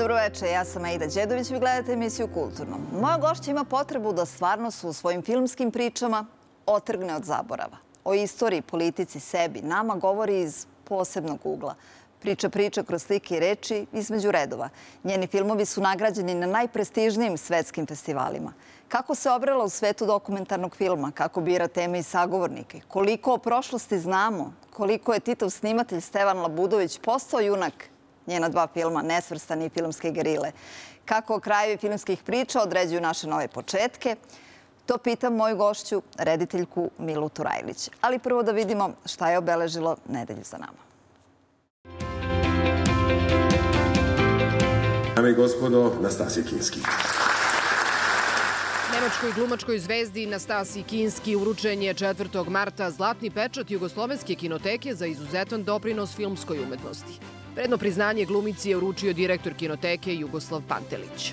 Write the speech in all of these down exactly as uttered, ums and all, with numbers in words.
Dobroveče, ja sam Aida Đedović, vi gledate emisiju Kulturno. Moja gošća ima potrebu da stvarnost u svojim filmskim pričama otrgne od zaborava. O istoriji, politici, sebi, nama govori iz posebnog ugla. Priča priča kroz slike i reči između redova. Njeni filmovi su nagrađeni na najprestižnijim svetskim festivalima. Kako se obrela u svetu dokumentarnog filma, kako bira teme i sagovornike, koliko o prošlosti znamo, koliko je Titov snimatelj Stevan Labudović postao junak njena dva filma, Nesvrstani i Filmske gerile. Kako krajevi filmskih priča određuju naše nove početke, to pitam moju gošću, rediteljku Milu Turajlić. Ali prvo da vidimo šta je obeležilo nedelju za nama. Dame i gospodo, Nastasija Kinski. Nemačkoj glumačkoj zvezdi Nastasiji Kinski uručen je četvrtog marta zlatni pečat Jugoslovenske kinoteke za izuzetan doprinos filmskoj umetnosti. Predno priznanje glumici je uručio direktor kinoteke Jugoslav Pantelić.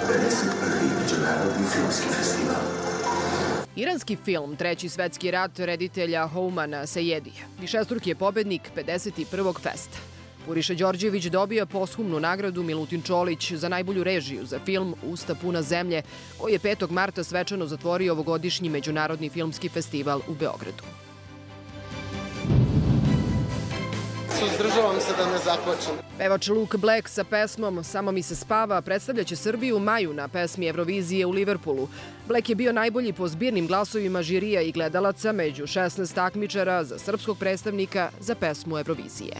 pedeset prvi međunarodni filmski festival. Iranski film Treći svetski rat reditelja Houmana Sejedija višestruki je pobednik pedeset prvog festa. Puriša Đorđević dobija posthumnu nagradu Milutin Čolić za najbolju režiju za film Usta puna zemlje, koji je petog marta svečano zatvorio ovogodišnji međunarodni filmski festival u Beogradu. Suzdržavam se da ne zaplačem. Pevač Luke Black sa pesmom Samo mi se spava predstavljaće Srbiju u maju na pesmi Evrovizije u Liverpoolu. Black je bio najbolji po zbirnim glasovima žirija i gledalaca među šesnaest takmičara za srpskog predstavnika za pesmu Evrovizije.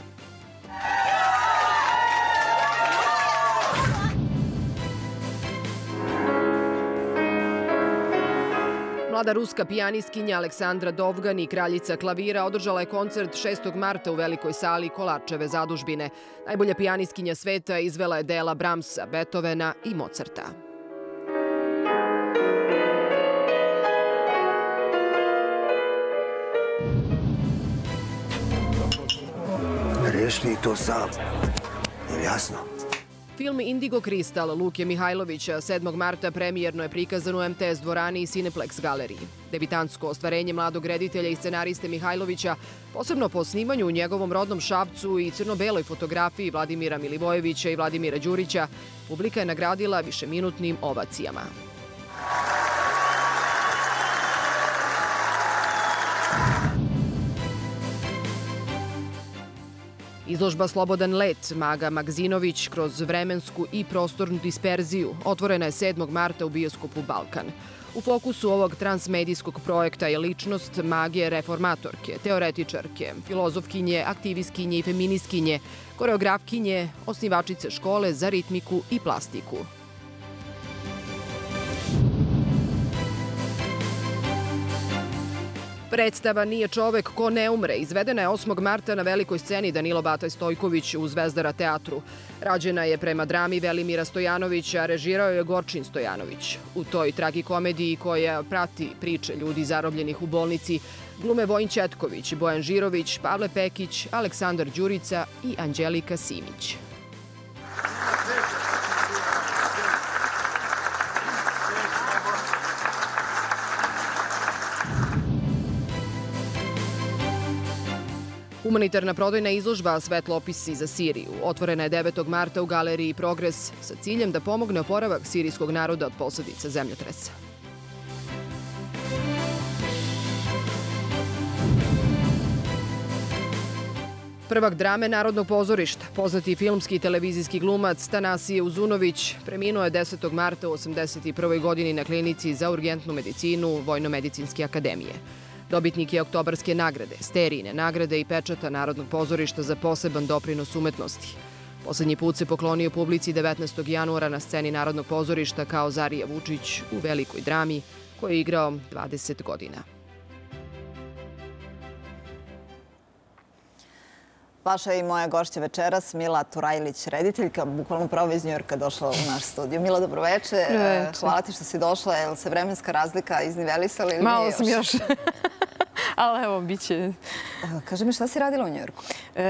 Mlada ruska pijanistkinja Aleksandra Dovgan i kraljica klavira održala je koncert šestog marta u velikoj sali Kolarčeve zadužbine. Najbolja pijanistkinja sveta izvela je dela Brahmsa, Beethovena i Mozarta. Rešni to sam. Je jasno? Film Indigo Kristal Luke Mihajlovića sedmog marta premijerno je prikazan u em te es dvorani i Cineplex galeriji. Debitansko ostvarenje mladog reditelja i scenariste Mihajlovića, posebno po snimanju u njegovom rodnom Šapcu i crno-beloj fotografiji Vladimira Milivojevića i Vladimira Đurića, publika je nagradila višeminutnim ovacijama. Izložba Slobodan let Maga Magzinović kroz vremensku i prostornu disperziju otvorena je sedmog marta u bioskopu Balkan. U fokusu ovog transmedijskog projekta je ličnost Mage reformatorke, teoretičarke, filozofkinje, aktivistkinje i feministkinje, koreografkinje, osnivačice škole za ritmiku i plastiku. Predstava Nije čovek ko ne umre izvedena je osmog marta na velikoj sceni Danilo Bataj Stojković u Zvezdara teatru. Rađena je prema drami Velimira Stojanovića, a režirao je Gorčin Stojanović. U toj tragikomediji koja prati priče ljudi zarobljenih u bolnici glume Vojin Ćetković, Bojan Žirović, Pavle Pekić, Aleksandar Đurica i Anđelika Simić. Humanitarna prodajna izložba Svetlopisi za Siriju otvorena je devetog marta u galeriji Progres sa ciljem da pomogne oporavak sirijskog naroda od posledica zemljotresa. Prvak drame Narodnog pozorišta, poznati filmski i televizijski glumac Tanasije Uzunović, preminuo je desetog marta u osamdeset prvoj godini na klinici za urgentnu medicinu Vojno-medicinske akademije. Dobitnik je Oktobarske nagrade, Sterijine nagrade i pečata Narodnog pozorišta za poseban doprinos umetnosti. Poslednji put se poklonio publici devetnaestog januara na sceni Narodnog pozorišta kao Zarija Vučić u velikoj drami koju je igrao dvadeset godina. Vaša i moja gošća večeras, Mila Turajlić, rediteljka, bukvalno pravo iz Njujorka došla u naš studiju. Mila, dobroveče. Hvala ti što si došla. Je li se vremenska razlika iznivelisala ili nije još? Malo sam još. Ali evo, bit će... Kaži mi, šta si radila u Njujorku?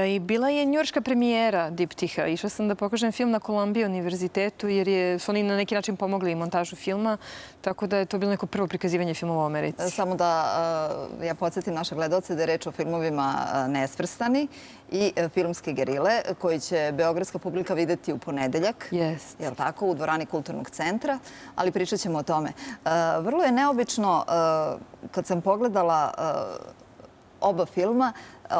I bila je njujorška premijera Diptiha. Išla sam da pokažem film na Columbia univerzitetu jer je, su oni na neki način pomogli montažu filma, tako da je to bilo neko prvo prikazivanje filmova u Americi. Samo da ja podsjetim naše gledaoce da je reč o filmovima Nesvrstani i Filmske gerile, koji će beogradska publika videti u ponedeljak, Jest. je li tako, u dvorani Kulturnog centra, ali pričat ćemo o tome. Vrlo je neobično, kad sam pogledala oba filma,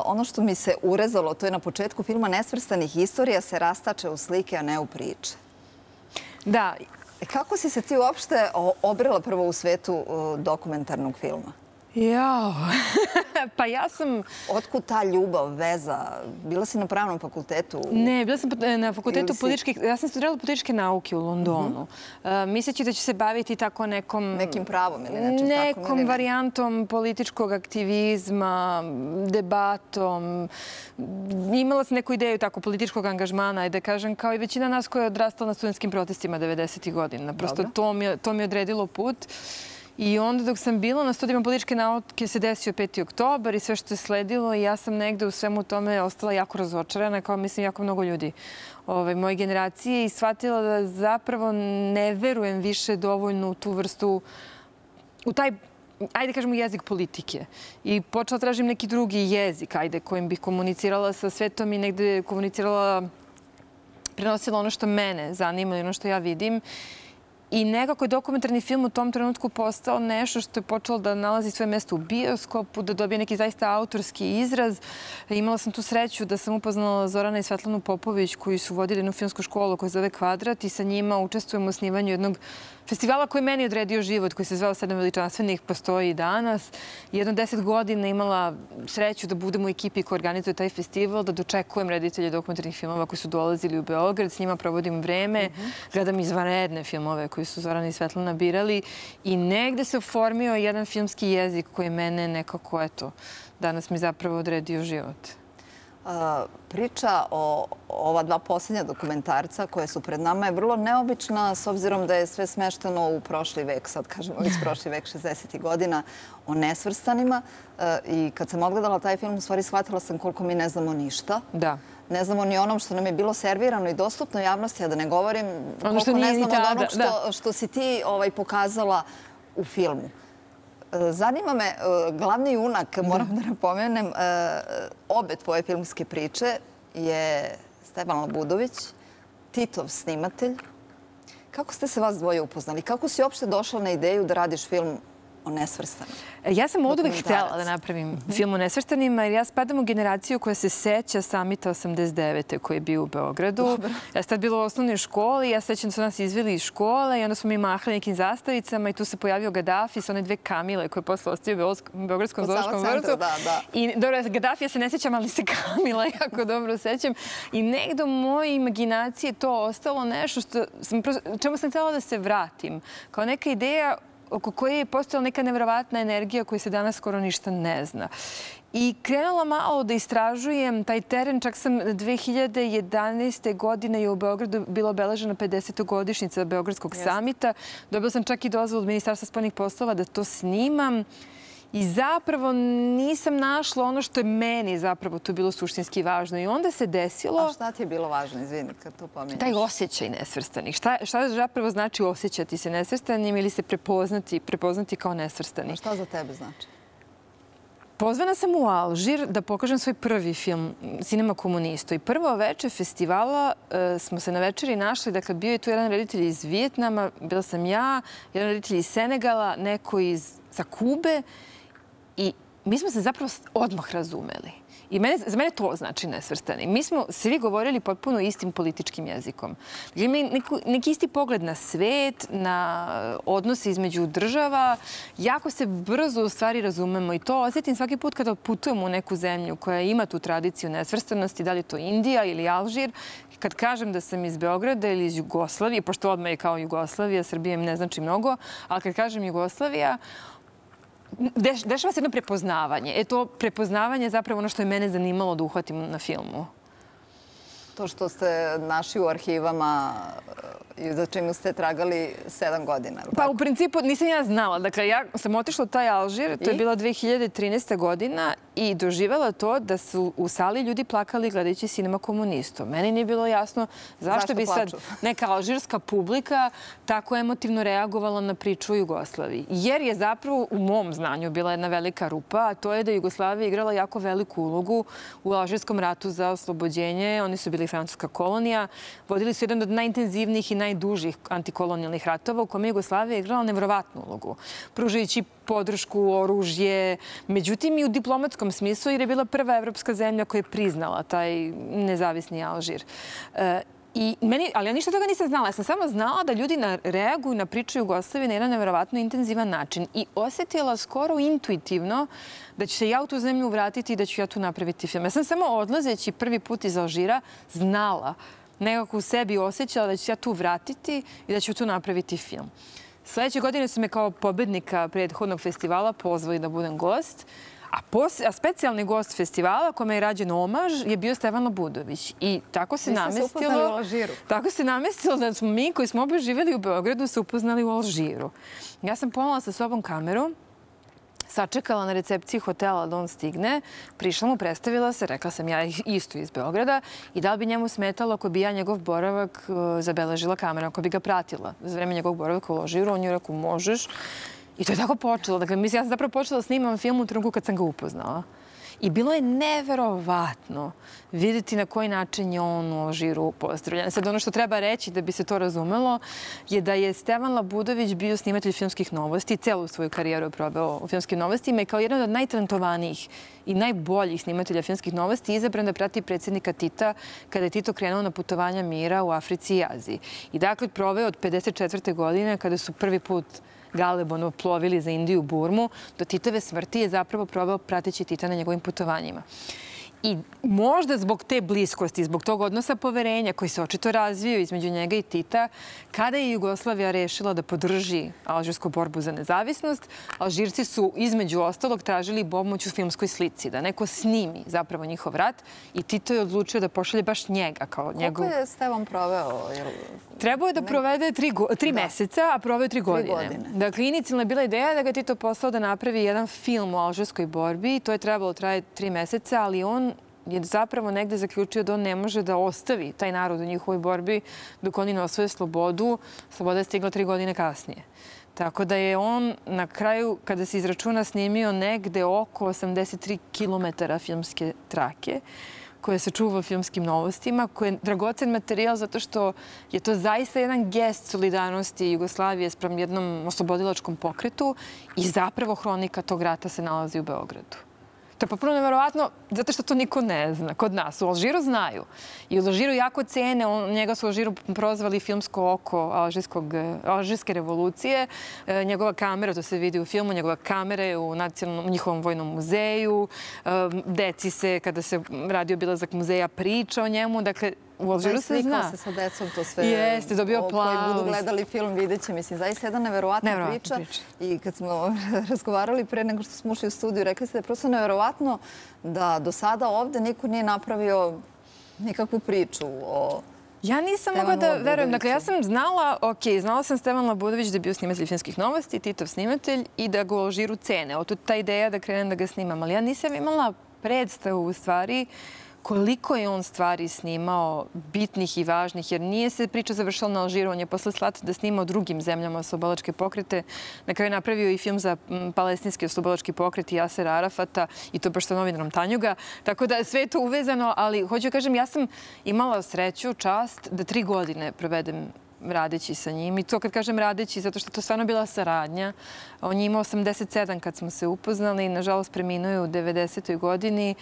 ono što mi se urezalo, to je na početku filma Nesvrstanih, istorija se rastače u slike, a ne u priče. Da. Kako si se ti uopšte obrela prvo u svetu dokumentarnog filma? Jao, pa ja sam... Otkud ta ljubav, veza? Bila si na pravnom fakultetu? Ne, bila sam na fakultetu političkih... Ja sam studirala političke nauke u Londonu. Misleći da ću se baviti tako nekom... Nekim pravom ili nečim takvom? Nekom varijantom političkog aktivizma, debatom. Imala sam neku ideju tako političkog angažmana i da kažem, kao i većina nas koja je odrastala na studentskim protestima devedesetih godina. Prosto to mi je odredilo put. I onda dok sam bila na studijama političke nauke se desio peti oktobar i sve što je sledilo i ja sam negde u svemu tome ostala jako razočarana, kao mislim jako mnogo ljudi moje generacije i shvatila da zapravo ne verujem više dovoljno u tu vrstu, u taj, ajde kažemo, jezik politike. I počela tražim neki drugi jezik, ajde, kojim bih komunicirala sa svetom i negde komunicirala, prenosila ono što mene zanima i ono što ja vidim. I nekako je dokumentarni film u tom trenutku postao nešto što je počelo da nalazi svoje mesto u bioskopu, da dobije neki zaista autorski izraz. Imala sam tu sreću da sam upoznala Zorana i Svetlanu Popović koji su vodili jednu filmsku školu koja se zove Kvadrat i sa njima učestvujemo u osnivanju jednog festivala koji je meni odredio život, koji se zvao Sedam veličanstvenih, postoji i danas. Jedno deset godina imala sreću da budem u ekipi koja organizuje taj festival, da dočekujem reditelje dokumentarnih filmova koji su dolazili u Beograd, s njima provodim vreme, gledam izvanredne filmove koji su Zorana i Svetlana birali i negde se oformio jedan filmski jezik koji mene nekako, eto, danas mi zapravo odredio život. Priča o ova dva posljednja dokumentarca koje su pred nama je vrlo neobična s obzirom da je sve smešteno u prošli vek, sad kažemo već prošli vek, šezdesetih godina, o Nesvrstanima. I kad sam odgledala taj film, u stvari shvatila sam koliko mi ne znamo ništa. Da. Ne znamo ni onom što nam je bilo servirano i dostupno javnosti, a da ne govorim koliko ne znamo od onog što si ti pokazala u filmu. Zanima me, glavni junak, moram da napomenem, obe tvoje filmske priče je Stevan Labudović, Titov snimatelj. Kako ste se vas dvoje upoznali? Kako si uopšte došla na ideju da radiš film o Nesvrstanim? Ja sam od uvek htjela da napravim film o Nesvrstanima jer ja spadam u generaciju koja se seća Samita osamdeset devete koji je bio u Beogradu. Ja sam tad bila u osnovnoj školi, ja sećam da su nas izveli iz škole i onda smo mi mahali nekim zastavicama i tu se pojavio Gaddafi sa one dve Kamile koje je posle ostavio u Beogradskom zoološkom vrtu. I dobro, Gaddafi ja se ne sećam, ali se Kamila jako dobro sećam. I negde u mojoj imaginaciji to ostalo nešto čemu sam htjela da se vratim. Kao neka ideja oko koje je postojala neka nevjerovatna energija koju se danas skoro ništa ne zna. I krenula malo da istražujem taj teren. Čak sam dve hiljade jedanaeste. godine je u Beogradu bila obeležena pedesetogodišnjica Beogradskog samita. Dobila sam čak i dozvolu od Ministarstva spoljnih poslova da to snimam. I zapravo nisam našla ono što je meni zapravo tu bilo suštinski važno. I onda se desilo... A šta ti je bilo važno, izvini, kad to pominješ? Taj osjećaj nesvrstanih. Šta zapravo znači osjećati se nesvrstanim ili se prepoznati kao nesvrstani? A šta za tebe znači? Pozvana sam u Alžir da pokažem svoj prvi film Cinema Komunisto. I prvo veče festivala smo se na večeri našli. Dakle, bio je tu jedan reditelj iz Vijetnama, bila sam ja, jedan reditelj iz Senegala, neko sa Kube. I mi smo se zapravo odmah razumeli. I za mene to znači nesvrstani. Mi smo svi govorili potpuno istim političkim jezikom. Imamo neki isti pogled na svet, na odnose između država. Jako se brzo u stvari razumemo i to osjetim svaki put kada putujemo u neku zemlju koja ima tu tradiciju nesvrstanosti, da li je to Indija ili Alžir. Kad kažem da sam iz Beograda ili iz Jugoslavije, pošto odmah je kao Jugoslavija, Srbija im ne znači mnogo, ali kad kažem Jugoslavija, dešava se jedno prepoznavanje. E to prepoznavanje je zapravo ono što je mene zanimalo da uhvatim na filmu. To što ste našli u arhivama i za čemu ste tragali sedam godina. Pa u principu nisam ja znala. Dakle, ja sam otišla u taj Alžir, to je bila dve hiljade trinaesta godina i doživjela to da su u sali ljudi plakali gledajući Sinema komunistu. Meni nije bilo jasno zašto bi sad neka alžirska publika tako emotivno reagovala na priču o Jugoslaviji. Jer je zapravo u mom znanju bila jedna velika rupa, a to je da Jugoslavija igrala jako veliku ulogu u Alžirskom ratu za oslobođenje. Oni su bili francuska kolonija, vodili su jedan od najintenzivnijih i najdužih antikolonijalnih ratova u kome je Jugoslavija igrala nevjerovatnu ulogu, pružajući podršku, oružje, međutim i u diplomatskom smislu, jer je bila prva evropska zemlja koja je priznala taj nezavisni Alžir. I meni, ali ja ništa toga nisam znala. Ja sam samo znala da ljudi reaguju na priču Jugoslavije na jedan nevjerovatno intenzivan način i osjetila skoro intuitivno da ću se ja u tu zemlju vratiti i da ću ja tu napraviti film. Ja sam samo odlazeći prvi put iz Alžira znala, nekako u sebi osjećala da ću se ja tu vratiti i da ću tu napraviti film. Sljedeće godine su me kao pobednika prethodnog festivala pozvali da budem gost, a, pos, a specijalni gost festivala kome je rađen omaž je bio Stevan Labudović. I tako se namestilo, tako se namestilo da smo mi koji smo oboje živjeli u Beogradu se upoznali u Alžiru. Ja sam ponela sa sobom kameru, sačekala na recepciji hotela da on stigne, prišla mu, predstavila se, rekla sam ja isto iz Beograda i da li bi njemu smetalo ako bi ja njegov boravak zabeležila kamera, ako bi ga pratila za vreme njegovog boravaka u Alžiru. On je rekao, možeš. I to je tako počelo. Dakle, mislim, ja sam zapravo počela da snimam film u trenutku kad sam ga upoznala. I bilo je neverovatno vidjeti na koji način je on u Alžiru pozdravljen. Sad, ono što treba reći da bi se to razumelo je da je Stevan Labudović bio snimatelj filmskih novosti, celu svoju karijeru je probao u filmskim novostima i kao jedan od najtalentovanijih i najboljih snimatelja filmskih novosti izabran da prati predsjednika Tita kada je Tito krenuo na putovanja mira u Africi i Aziji. I dakle, proveo od pedeset četvrte godine kada su prvi put Galebono plovili za Indiju, Burmu, do Titove smrti je zapravo probao prateći Tita na njegovim putovanjima. I možda zbog te bliskosti, zbog tog odnosa poverenja koji se očito razvio između njega i Tita, kada je Jugoslavija rešila da podrži alžirsku borbu za nezavisnost, Alžirci su između ostalog tražili pomoć u filmskoj slici, da neko snimi zapravo njihov rat i Tito je odlučio da pošalje baš njega kao njegov... Koliko je Stevan proveo? Trebao je da provede tri, go... tri da. meseca, a proveo tri godine. godine. Dakle, inicijalna je bila ideja da ga Tito poslao da napravi jedan film o alžirskoj borbi. To je trebalo traje tri meseca, ali on je zapravo negde zaključio da on ne može da ostavi taj narod u njihovoj borbi dok oni ne osvoje slobodu. Sloboda je stigla tri godine kasnije. Tako da je on na kraju, kada se izračuna, snimio negde oko osamdeset tri kilometara filmske trake koje se čuva u filmskim novostima, koje je dragocen materijal zato što je to zaista jedan gest solidarnosti Jugoslavije sprem jednom oslobodilačkom pokretu i zapravo hronika tog rata se nalazi u Beogradu. To je potpuno nevjerovatno zato što to niko ne zna. Kod nas u Alžiru znaju. I u Alžiru jako cene. Njega su u Alžiru prozvali filmsko oko alžirske revolucije. Njegova kamera, to se vidi u filmu, njegova kamera je u nacionalnom njihovom vojnom muzeju. Deci se, kada se radi obilazak muzeja, priča o njemu. Dakle, u Alžiru se zna. Slikao se sa decom, to sve. Jeste, dobio aplauz. Koji budu gledali film, vidjet će. Mislim, zaista jedna neverovatna priča. priča. I kad smo razgovarali pre nego što smo ušli u studiju, rekli ste da je prosto neverovatno da do sada ovde niko nije napravio nikakvu priču o... Ja nisam mogla da verujem. Dakle, ja sam znala, ok, znala sam Stevan Labudović da je bio snimatelj filmskih novosti, Titov snimatelj i da ga u Alžiru cene. Od ta ideja da krenem da ga snimam. Ali ja nisam imala predstavu u stvari koliko je on stvari snimao bitnih i važnih, jer nije se priča završila na Alžiru. On je posle slat da snima o drugim zemljama oslobodilačke pokrete. Na kraju napravio i film za palestinski oslobodilački pokret i Jasera Arafata i to baš sa novinarom Tanjuga. Tako da sve je to uvezano, ali hoću da kažem, ja sam imala sreću, čast da tri godine provedem radeći sa njim. I to kad kažem radeći, zato što to stvarno bila saradnja. On je imao osamdeset sedam kad smo se upoznali i nažalost preminuo je u devedesetoj godini.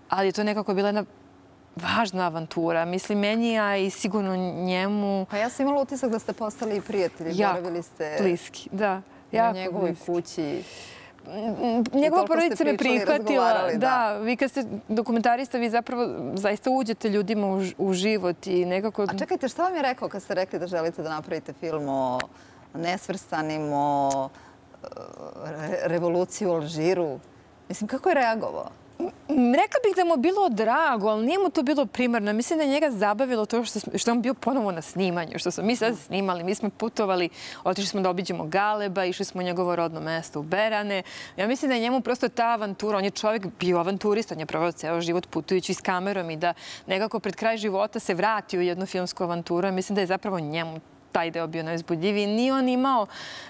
Ali to je nekako bila jedna važna avantura. Mislim, meni, a i sigurno njemu... Pa ja sam imala utisak da ste postali i prijatelji. Jako bliski, da. Na njegovoj kući. Njegova porodica me prihvatila. Da, vi kad ste dokumentarista, vi zapravo zaista uđete ljudima u život i nekako... A čekajte, šta vam je rekao kad ste rekli da želite da napravite film o nesvrstanim, o revoluciji u Alžiru? Mislim, kako je reagovao? Rekla bih da mu bilo drago, ali nije mu to bilo primarno. Mislim da je njega zabavilo to što, što on bio ponovo na snimanju, što smo mi sad snimali. Mi smo putovali, otišli smo da obiđemo Galeba, išli smo u njegovo rodno mesto u Berane. Ja mislim da je njemu prosto ta avantura, on je čovjek bio avanturista, on je proveo ceo život putujući s kamerom i da nekako pred kraj života se vrati u jednu filmsku avanturu. Ja mislim da je zapravo njemu taj deo bio najuzbudljiviji. Nije on imao,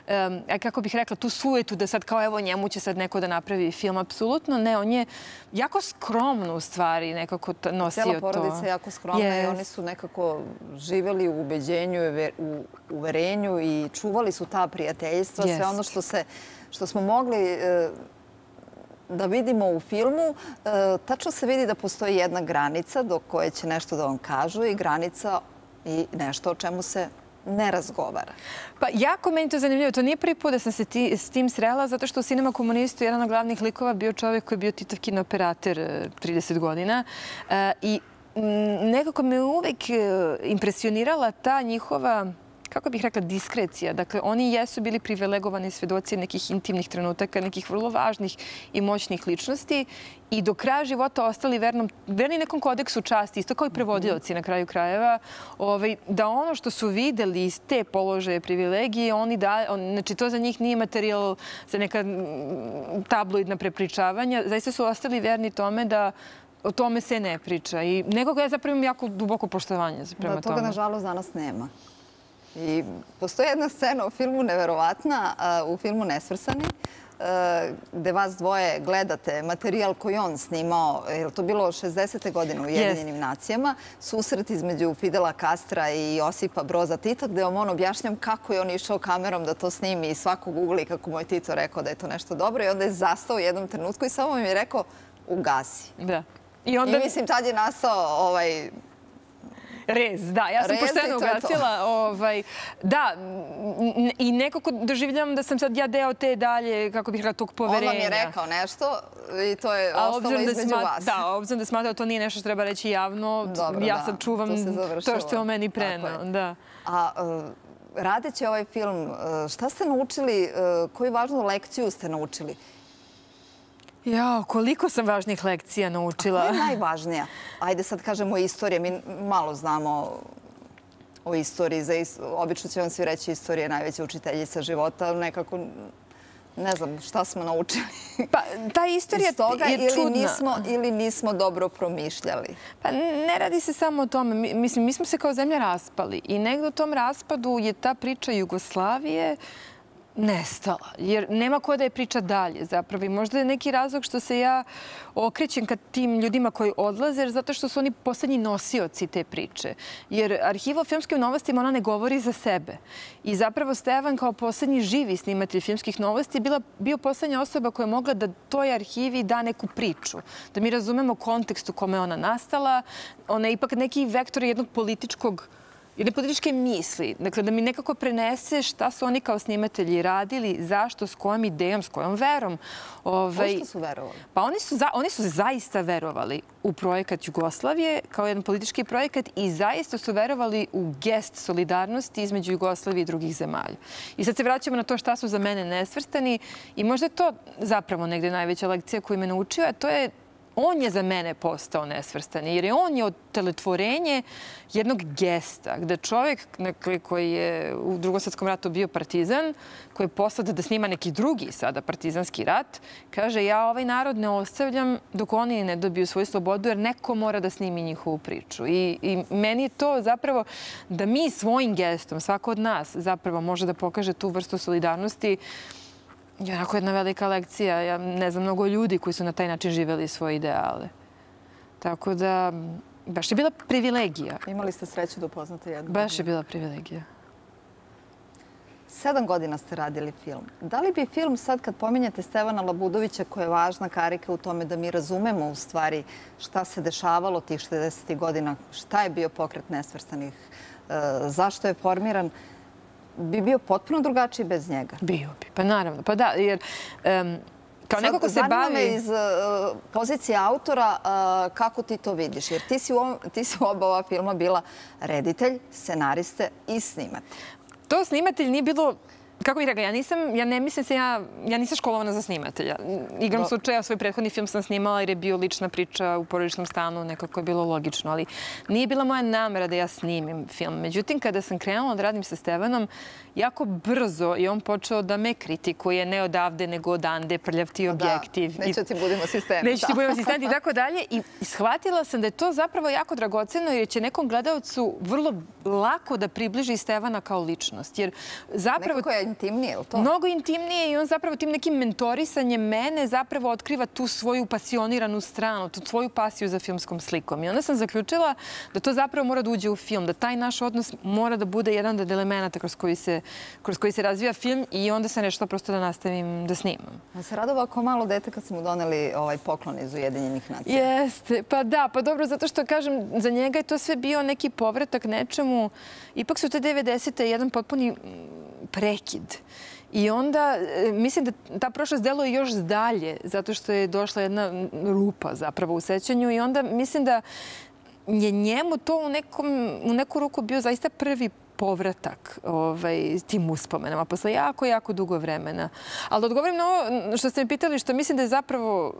um, kako bih rekla, tu sujetu da sad kao evo njemu će sad neko da napravi film. Apsolutno ne. On je jako skromno u stvari nekako nosio to. Cijela porodica je jako skromna yes. i oni su nekako živjeli u ubeđenju, u uverenju i čuvali su ta prijateljstva. Yes. Sve ono što, se, što smo mogli e, da vidimo u filmu, e, tačno se vidi da postoji jedna granica do koje će nešto da vam kažu i granica i nešto o čemu se ne razgovara. Pa jako meni to zanimljivo. To nije prvi put da sam se ti, s tim srela, zato što u Cinema komunistu jedan od glavnih likova bio čovjek koji je bio Titov kinooperater trideset godina. E, I m, nekako me uvek impresionirala ta njihova, kako bih rekla, diskrecija. Dakle, oni jesu bili privilegovani svedoci nekih intimnih trenutaka, nekih vrlo važnih i moćnih ličnosti i do kraja života ostali vernom, verni nekom kodeksu časti, isto kao i prevodioci na kraju krajeva, ovaj, da ono što su videli iz te položaje privilegije, oni da, on, znači to za njih nije materijal za neka tabloidna prepričavanja, zaista su ostali verni tome da o tome se ne priča. I nekoga ja zapravo imam jako duboko poštovanje prema da, tome. Toga, nažalost, danas nema. I postoji jedna scena u filmu neverovatna, u filmu Nesvrstani, gde vas dvoje gledate materijal koji on snimao, je to bilo šezdesete godine u Ujedinjenim nacijama, susret između Fidela Castra i Josipa Broza Tita, gde vam on objašnjam kako je on išao kamerom da to snimi i svako googli kako mu je Tito rekao da je to nešto dobro i onda je zastao u jednom trenutku i samo mi je rekao ugasi. Da. I, onda... I mislim, tad je nastao ovaj... Rez, da. Ja sam pošteno ugasila. Ovaj, da, i nekako doživljavam da sam sad ja deo te dalje, kako bih rekla, tog poverenja. On vam je rekao nešto i to je ostalo između vas. Da, obzirom da smatra da to nije nešto što treba reći javno, dobro, ja da, sad čuvam to, to što je o meni prenao. Da. A uh, radeći ovaj film, uh, šta ste naučili, uh, koju važnu lekciju ste naučili? Jao, koliko sam važnih lekcija naučila. A koja je najvažnija? Ajde sad kažemo istorija. Mi malo znamo o istoriji. Za is... Obično će vam svi reći istorija je najveća učiteljica života. Nekako ne znam šta smo naučili. Pa ta istorija toga, je ili čudna. Nismo, ili nismo dobro promišljali. Pa ne radi se samo o tome. Mi, mislim, mi smo se kao zemlja raspali. I negdje u tom raspadu je ta priča Jugoslavije nestala, jer nema ko da je priča dalje zapravo. I možda je neki razlog što se ja okrećem ka tim ljudima koji odlaze, jer zato što su oni poslednji nosioci te priče. Jer arhiva o filmskim novostima, ona ne govori za sebe. I zapravo Stevan kao poslednji živi snimatelj filmskih novosti bila, bio poslednja osoba koja je mogla da toj arhivi da neku priču. Da mi razumemo kontekst u kome ona nastala. Ona je ipak neki vektor jednog političkog jedne političke misli. Dakle, da mi nekako prenese šta su oni kao snimatelji radili, zašto, s kojom idejom, s kojom verom. Ovaj, Pošto su verovali? Pa oni su, za, oni su zaista verovali u projekat Jugoslavije kao jedan politički projekat i zaista su verovali u gest solidarnosti između Jugoslavije i drugih zemalja. I sad se vraćamo na to šta su za mene nesvrstani i možda je to zapravo negde najveća lekcija koju me naučio, a to je on je za mene postao nesvrstani, jer je on je otelotvorenje jednog gesta, gde čovjek koji je u Drugom svjetskom ratu bio partizan, koji je poslao da snima neki drugi sada partizanski rat, kaže ja ovaj narod ne ostavljam dok oni ne dobiju svoju slobodu, jer neko mora da snimi njihovu priču. I, i meni je to zapravo da mi svojim gestom, svako od nas zapravo može da pokaže tu vrstu solidarnosti. Je onako jedna velika lekcija. Ja ne znam mnogo ljudi koji su na taj način živjeli svoje ideale. Tako da, baš je bila privilegija. Imali ste sreću da upoznate jednu? Baš je bila privilegija. Sedam godina ste radili film. Da li bi film sad, kad pominjete Stevana Labudovića, koja je važna karika u tome da mi razumemo u stvari šta se dešavalo tih šezdesetih godina, šta je bio pokret nesvrstanih, zašto je formiran, bi bio potpuno drugačiji bez njega? Bio bi, pa naravno. Pa da, jer um, kao neko ko se bavi... Zanima me iz uh, pozicije autora uh, kako ti to vidiš. Jer ti si u, ovom, ti si u oba ova filma bila reditelj, scenariste i snimatelj. To snimatelj nije bilo kako bih rekla, ja nisam, ja ne mislim se, ja, ja nisam školovana za snimatelja. Igram Do... slučaja, svoj prethodni film sam snimala jer je bio lična priča u porodičnom stanu, nekako je bilo logično, ali nije bila moja namera da ja snimim film. Međutim, kada sam krenula da radim sa Stevanom, jako brzo je on počeo da me kritikuje, ne odavde, nego odande, prljav ti objektiv. Da, neću ti budem asistenti. Neću ti budem asistenti i tako dalje. I shvatila sam da je to zapravo jako dragoceno jer će nekom gledalcu vrlo lako da približi Stevana kao ličnost. Jer zapravo... Nekako je intimnije, je li to? Mnogo intimnije i on zapravo tim nekim mentorisanjem mene zapravo otkriva tu svoju pasioniranu stranu, tu svoju pasiju za filmskom slikom. I onda sam zaključila da to zapravo mora da uđe u film, da taj naš odnos mora da bude jedan od elemenata kroz koji se, kroz koji se razvija film i onda sam rešila prosto da nastavim da snimam. On se radova kao malo dete kad smo mu doneli ovaj poklon iz Ujedinjenih nacija. Jeste, pa da, pa dobro, zato što kažem, za njega je to sve bio neki povratak nečemu. Ipak su te devedesete jedan potpuni prekid. I onda mislim da ta prošlost deluje još dalje, zato što je došla jedna rupa zapravo u sećanju i onda mislim da je njemu to u, nekom, u neku ruku bio zaista prvi povratak ovaj, tim uspomenama posle jako, jako dugo vremena. Ali da odgovorim na ovo što ste mi pitali, što mislim da je zapravo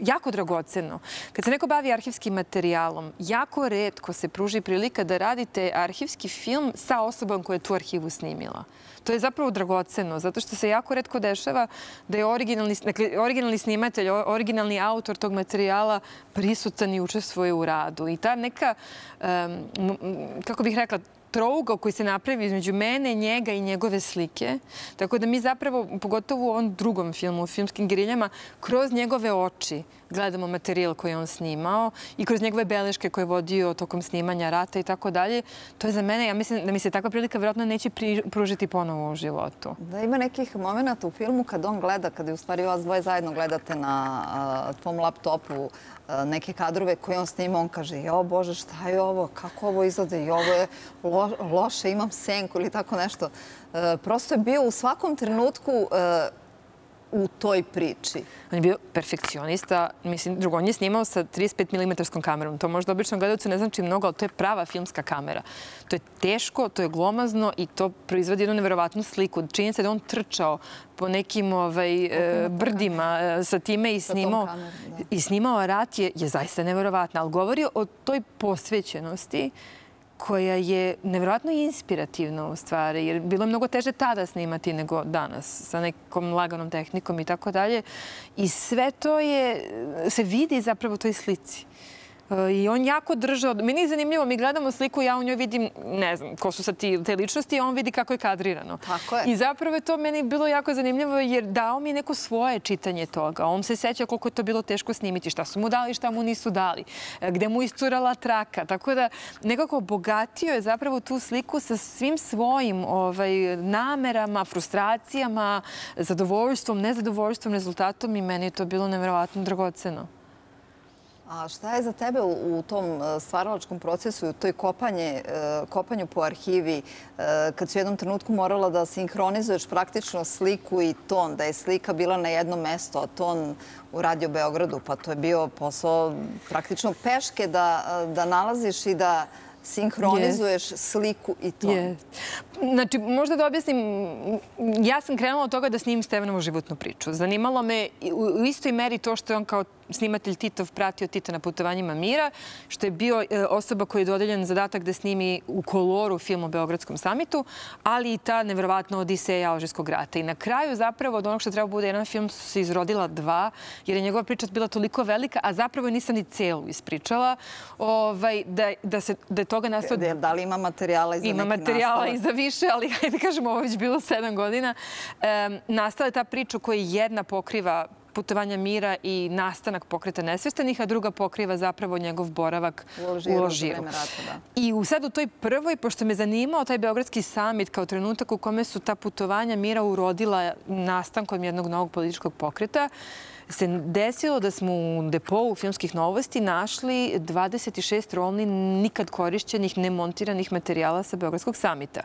jako dragoceno. Kad se neko bavi arhivskim materijalom, jako retko se pruži prilika da radite arhivski film sa osobom koja je tu arhivu snimila. To je zapravo dragoceno, zato što se jako retko dešava da je originalni, dakle, originalni snimatelj, originalni autor tog materijala prisutan i učestvuje u radu. I ta neka, um, kako bih rekla, trougao koji se napravi između mene, njega i njegove slike. Tako da mi zapravo, pogotovo u ovom drugom filmu, u Filmskim geriljama, kroz njegove oči gledamo materijal koji je on snimao i kroz njegove beleške koje je vodio tokom snimanja rata i tako dalje. To je za mene, ja mislim da mi se takva prilika vjerojatno neće pružiti ponovo u životu. Da ima nekih momenta u filmu kad on gleda, kad je u stvari vas dvoje zajedno gledate na a, tvom laptopu a, neke kadrove koje on snima, on kaže, jo Bože, šta je ovo, kako ovo izgleda, i ovo je lo, loše, imam senku ili tako nešto. E, prosto je bio u svakom trenutku e, u toj priči. On je bio perfekcionista. Mislim, drugo, on je snimao sa trideset pet milimetara kamerom. To možda običnom gledalcu ne znači mnogo, ali to je prava filmska kamera. To je teško, to je glomazno i to proizvodi jednu neverovatnu sliku. Čini se da on trčao po nekim ovaj, brdima sa time i snimao, i snimao rat je, je zaista neverovatna. Ali govori o toj posvećenosti koja je nevjerojatno inspirativna u stvari, jer bilo je mnogo teže tada snimati nego danas, sa nekom laganom tehnikom i tako dalje. I sve to je, se vidi zapravo u toj slici. I on jako držao. Meni je zanimljivo, mi gledamo sliku, ja u njoj vidim, ne znam, ko su sad te ličnosti, a on vidi kako je kadrirano. Tako je. I zapravo je to meni bilo jako zanimljivo jer dao mi neko svoje čitanje toga. On se seća koliko je to bilo teško snimiti, šta su mu dali, šta mu nisu dali, gde mu iscurala traka. Tako da nekako obogatio je zapravo tu sliku sa svim svojim ovaj, namerama, frustracijama, zadovoljstvom, nezadovoljstvom, rezultatom i meni je to bilo nevjerovatno dragoceno. A šta je za tebe u tom stvaralačkom procesu, u toj kopanje, kopanju po arhivi, kad si u jednom trenutku morala da sinhronizuješ praktično sliku i ton, da je slika bila na jednom mestu, a ton u Radio Beogradu, pa to je bio posao praktično peške da, da nalaziš i da sinhronizuješ sliku i ton. Yes. Znači, možda da objasnim, ja sam krenula od toga da snimim Stevanovu životnu priču. Zanimalo me u istoj meri to što je on kao snimatelj Titov pratio Tita na putovanjima mira, što je bio osoba koji je dodeljen zadatak da snimi u koloru film o Beogradskom samitu, ali i ta nevjerovatna odiseja Alžirskog rata. I na kraju zapravo od onog što treba bude jedan film su se izrodila dva, jer je njegova priča bila toliko velika, a zapravo nisam ni celu ispričala, ovaj, da, da, se, da je toga nastao... Da li ima materijala i za neki nastavak? Ima materijala i za više, ali hajde kažemo, ovo već bilo sedam godina. Um, nastala je ta priča koja jedna pokriva putovanja mira i nastanak pokreta nesvestanih, a druga pokriva zapravo njegov boravak u Alžiru. I sad u toj prvoj, pošto me zanimao taj Beogradski samit kao trenutak u kome su ta putovanja mira urodila nastankom jednog novog političkog pokreta, se desilo da smo u depou filmskih novosti našli dvadeset šest rolni nikad korišćenih, nemontiranih materijala sa Beogradskog samita.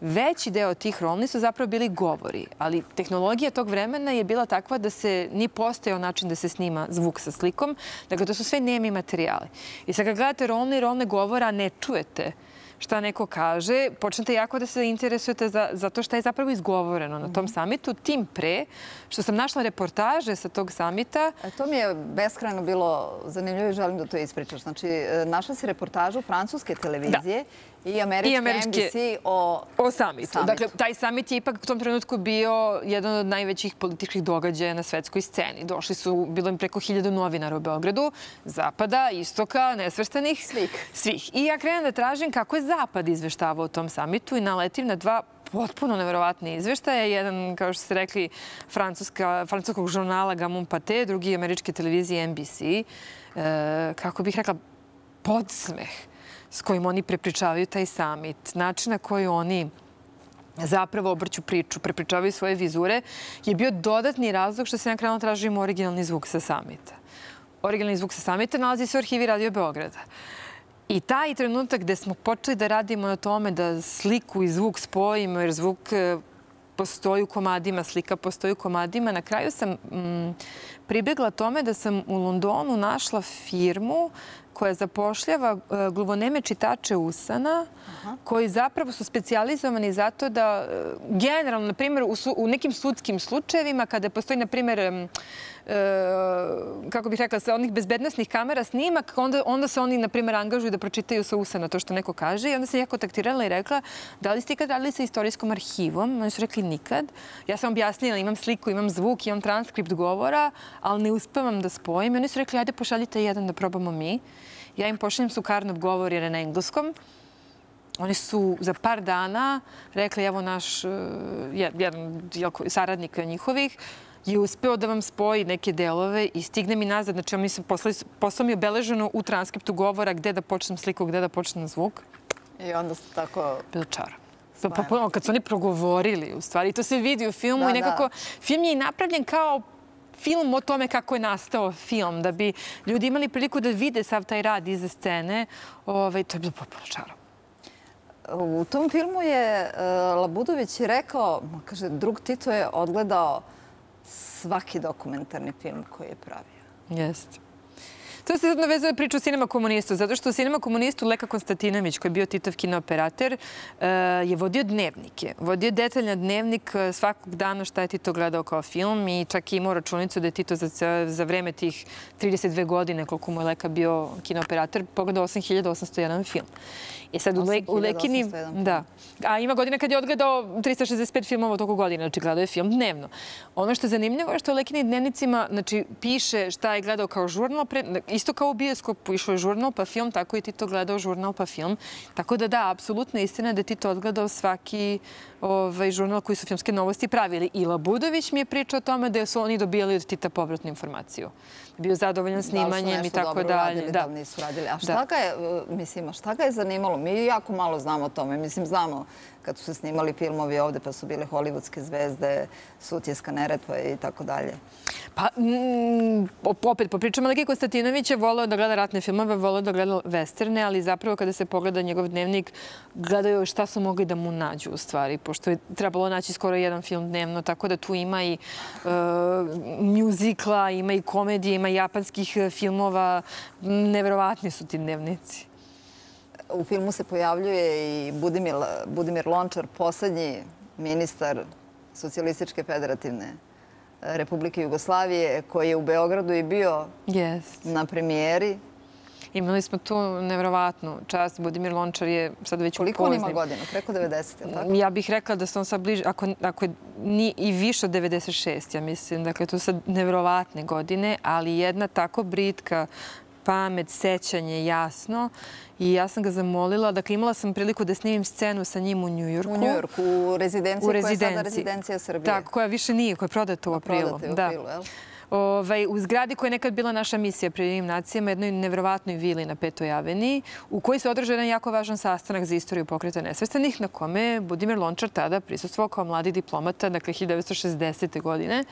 Veći deo tih rolni su zapravo bili govori, ali tehnologija tog vremena je bila takva da se nije postojao način da se snima zvuk sa slikom. Dakle, to su sve nemi materijali. I sad kad gledate rolne i rolne govora, ne čujete šta neko kaže, počnete jako da se interesujete za, za to šta je zapravo izgovoreno na tom samitu, tim pre što sam našla reportaže sa tog samita. E, to mi je beskrajno bilo zanimljivo i želim da to ispričaš. Znači, našla si reportažu francuske televizije i američke, I američke N B C o, o samitu. samitu. Dakle, taj samit je ipak u tom trenutku bio jedan od najvećih političkih događaja na svetskoj sceni. Došli su, bilo im preko hiljadu novinara u Beogradu, zapada, istoka, nesvrstanih. Svih. Svih. I ja krenem da tražim kako je zapad izveštavao o tom samitu i naletim na dva potpuno neverovatni izveštaja. Jedan, kao što ste rekli, francuskog žurnala Gamun Pate, drugi američke televizije N B C. E, kako bih rekla, podsmeh s kojim oni prepričavaju taj samit, način na koji oni zapravo obrću priču, prepričavaju svoje vizure, je bio dodatni razlog što se ja krenula tražim originalni zvuk sa samita. Originalni zvuk sa samita nalazi se u arhivi Radio Beograda. I taj trenutak gde smo počeli da radimo na tome da sliku i zvuk spojimo, jer zvuk postoji u komadima, slika postoji u komadima, na kraju sam mm, pribjegla tome da sam u Londonu našla firmu koja zapošljava uh, gluvoneme čitače usana, Aha. koji zapravo su specijalizovani zato da, uh, generalno, na primjer, u, su, u nekim sudskim slučajevima, kada postoji, na primjer, um, uh, kako bih rekla, sa onih bezbednosnih kamera snimak, onda, onda se oni, na primjer, angažuju da pročitaju sa usana to što neko kaže. I onda sam ja kontaktirala i rekla, da li ste ikad radili sa istorijskom arhivom? Oni su rekli nikad. Ja sam objasnila, imam sliku, imam zvuk, imam transkript govora, ali ne uspevam da spojim. I oni su rekli, ajde pošaljite jedan da probamo mi. Ja im pošaljem Sukarnov govor jer je na engleskom. Oni su za par dana rekli, evo naš jedan saradnik njihovih je uspeo da vam spoji neke delove i stigne mi nazad. Znači, oni su poslali, posao mi je obeleženo u transkriptu govora gde da počnem sliku, gde da počnem zvuk. I onda su tako... Bilo čaro. Pa, pa, kad su oni progovorili, u stvari, to se vidi u filmu da, i nekako... Da. Film je i napravljen kao film o tome kako je nastao film, da bi ljudi imali priliku da vide sav taj rad iza scene. Ove, to je bilo potpuno čaro. U tom filmu je uh, Labudović rekao, kaže, drug Tito je odgledao svaki dokumentarni film koji je pravio. Jeste. To se sad navezuje priču o Cinema komunistu, zato što u Cinema komunistu Leka Konstantinović, koji je bio Titov kinooperater, je vodio dnevnike. Vodio detaljan dnevnik svakog dana šta je Tito gledao kao film i čak i imao računicu da je Tito za, za vreme tih trideset dve godine, koliko mu je Leka bio kinooperater, pogledao osam hiljada osamsto jedan film. I sad u, Le, u Lekini... Da. A ima godine kad je odgledao trista šezdeset pet filmova toliko godina, znači gledao je film dnevno. Ono što je zanimljivo je što u Lekini dnevnicima znači, piše šta je gledao kao žurnal, pre, isto kao u bioskopu išao je žurnal pa film, tako i Tito gledao žurnal pa film. Tako da da, apsolutno istina da je Tito odgledao svaki ovaj, žurnal koji su filmske novosti pravili. I Labudović mi je pričao o tome da su oni dobijali od Tita povratnu informaciju. Bio zadovoljan snimanjem i tako dalje. Radili, da li nisu radili. A šta da. ga je, mislim, šta ga je zanimalo? Mi jako malo znamo o tome. Mislim, znamo kad su se snimali filmovi ovde, pa su bile hollywoodske zvezde, Sutjeska Neretva i tako dalje. Pa, mm, opet, po pričama Leke Konstantinović je voleo da gleda ratne filmove, voleo da gleda westerne, ali zapravo kada se pogleda njegov dnevnik, gledaju šta su mogli da mu nađu u stvari, pošto je trebalo naći skoro jedan film dnevno, tako da tu ima i uh, mjuzikla, ima i komedije, ima i japanskih filmova. Neverovatni su ti dnevnici. U filmu se pojavljuje i Budimir, Budimir Lončar, poslednji ministar Socijalističke federativne Republike Jugoslavije, koji je u Beogradu i bio yes. na premijeri. Imali smo tu neverovatnu čast. Budimir Lončar je sad već Koliko upoznim. on ima godina? Preko devedeset, je li tako? Ja bih rekla da se on sad bliže, ako, ako je ni, i više od devedeset šest, ja mislim. Dakle, to su sad neverovatne godine, ali jedna tako britka pamet, sećanje, jasno. I ja sam ga zamolila. Dakle, imala sam priliku da snimim scenu sa njim u Njujorku. U Njujorku, u rezidenciji, u rezidenciji. Koja je sada rezidencija Srbije. Tako, koja više nije, koja je prodata u aprilu. Prodata u aprilu, da. jel? Ovaj, u zgradi koja je nekad bila naša misija pri Jedinim nacijama, jednoj nevjerovatnoj vili na Petoj aveniji, u kojoj se održao jedan jako važan sastanak za istoriju Pokreta nesvrstanih, na kome je Budimir Lončar tada prisustvovao kao mladi diplomata, dakle hiljadu devetsto šezdesete. godine.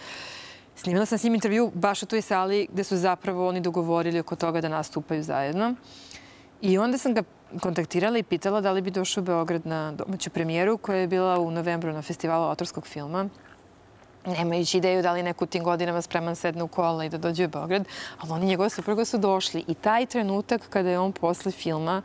Snimila sam s njim intervju baš u toj sali gde su zapravo oni dogovorili oko toga da nastupaju zajedno. I onda sam ga kontaktirala i pitala da li bi došao u Beograd na domaću premijeru koja je bila u novembru na festivalu autorskog filma. Nemajući ideju da li neko u tim godinama spreman sedne u kola i da dođe u Beograd, ali oni njegove supruga su došli. I taj trenutak kada je on posle filma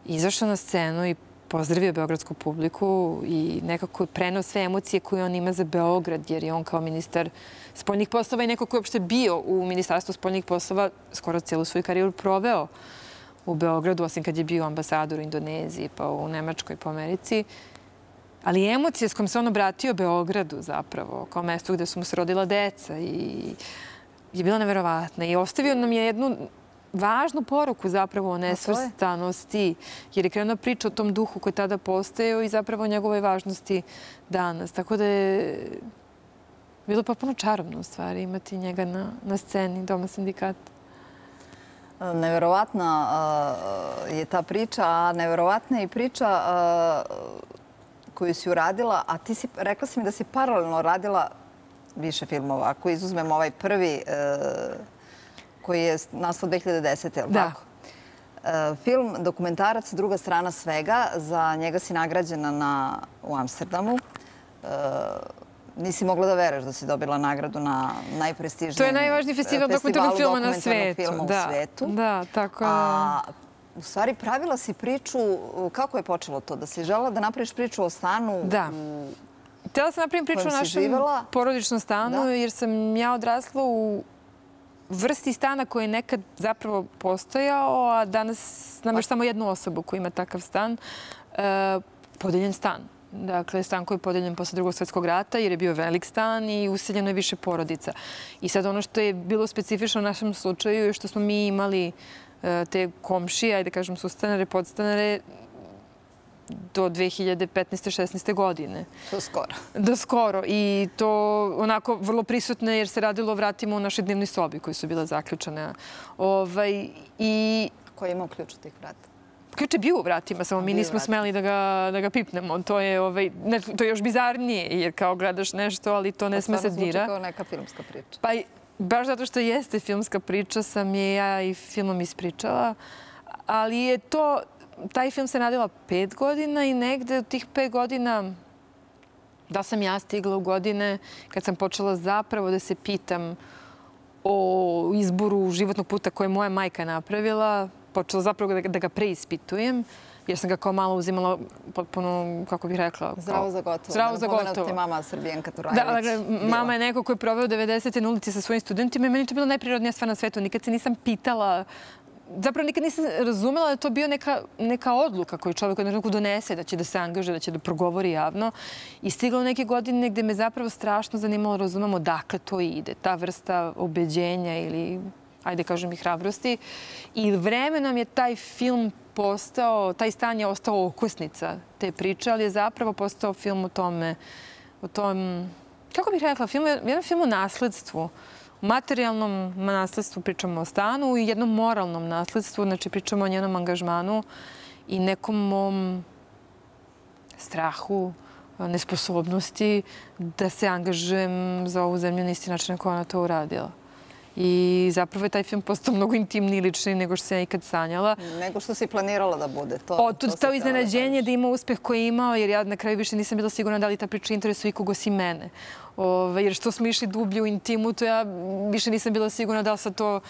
izašao na scenu i pozdravio beogradsku publiku i nekako preneo sve emocije koje on ima za Beograd, jer je on kao ministar spoljnih poslova i neko ko je uopšte bio u Ministarstvu spoljnih poslova skoro cijelu svoju karijeru proveo u Beogradu, osim kad je bio ambasador u Indoneziji, pa u Nemačkoj, pa u Americi. Ali emocije s kojom se on obratio Beogradu zapravo, kao mestu gde su mu se rodila deca, i je bila neverovatna. I ostavio nam je jednu važnu poruku zapravo o nesvrstanosti, jer je krenuo priča o tom duhu koji je tada postojao i zapravo o njegovoj važnosti danas. Tako da je bilo potpuno čarobno u stvari imati njega na, na sceni Doma sindikata. Neverovatna uh, je ta priča, a neverovatna je i priča uh, koju si uradila, a ti si, rekla si mi da si paralelno radila više filmova. Ako izuzmemo ovaj prvi uh, koji je nastao dve hiljade desete. je li Da. tako? Uh, film, dokumentarac Druga strana svega, za njega si nagrađena na, u Amsterdamu. Uh, nisi mogla da veruješ da si dobila nagradu na najprestižnijem To je najvažniji festival dokumentarnog filma na svetu. Filma Da, u svetu. da, tako je. A u stvari pravila si priču, kako je počelo to? Da si želela da napraviš priču o stanu? Da. Htjela sam napravim priču o kojem si našem živela? porodičnom stanu, Da. jer sam ja odrasla u vrsti stana koji je nekad zapravo postojao, a danas nam još samo jednu osobu koja ima takav stan. E, podeljen stan. Dakle, stan koji je podeljen posle Drugog svjetskog rata, jer je bio velik stan i useljeno je više porodica. I sad ono što je bilo specifično u našem slučaju je što smo mi imali e, te komšije, ajde kažem sustanare, podstanare, do dve hiljade petnaeste šesnaeste godine. To skoro. Do skoro. I to onako vrlo prisutno jer se radilo o vratima u našoj dnevnoj sobi koji su bile zaključane. Ovaj, i Ko je imao ključ od tih vrata? ključ je bio u vratima, samo mi Bio u nismo vratima. smeli da ga, da ga pipnemo. To je, ovaj, ne, to je još bizarnije jer kao gledaš nešto, ali to ne sme se Stvarno zvuči dira. kao neka filmska priča. Pa i baš zato što jeste filmska priča sam je ja i filmom ispričala. Ali je to, taj film se radila pet godina i negde od tih pet godina da sam ja stigla u godine kad sam počela zapravo da se pitam o izboru životnog puta koje je moja majka napravila. Počela zapravo da, da ga preispitujem, jer sam ga kao malo uzimala potpuno, kako bih rekla... Kao, Zdravo za gotovo. Zdravo za Napomenuti gotovo. ti mama Srbijenka Turajlić. Da, dakle, mama je neko koji je proveo devedesete na ulici sa svojim studentima i meni je to bila najprirodnija stvar na svetu. Nikad se nisam pitala, zapravo nikad nisam razumela da je to bio neka, neka odluka koju čovjek od nekog donese, da će da se angažuje, da će da progovori javno. I stigla u neke godine gde me zapravo strašno zanimalo, razumemo dakle to ide, ta vrsta ubeđenja ili, ajde kažem i hrabrosti. I vremenom je taj film postao, taj stan je ostao okosnica te priče, ali je zapravo postao film o tome, o tom, kako bih rekla, film, jedan film o nasledstvu. U materijalnom nasledstvu pričamo o stanu i jednom moralnom nasledstvu, znači pričamo o njenom angažmanu i nekom mom strahu, nesposobnosti da se angažujem za ovu zemlju na isti način na koja ona to uradila. I zapravo je taj film postao mnogo intimniji i ličniji nego što sam ja ikad sanjala. Nego što si planirala da bude. To, Otud to si to htela iznenađenje kažeš. da ima uspeh koji je imao, jer ja na kraju više nisam bila sigurna da li ta priča interesuje ikog osim mene. Ove, jer što smo išli dublje u intimu, to ja više nisam bila sigurna da li sad to...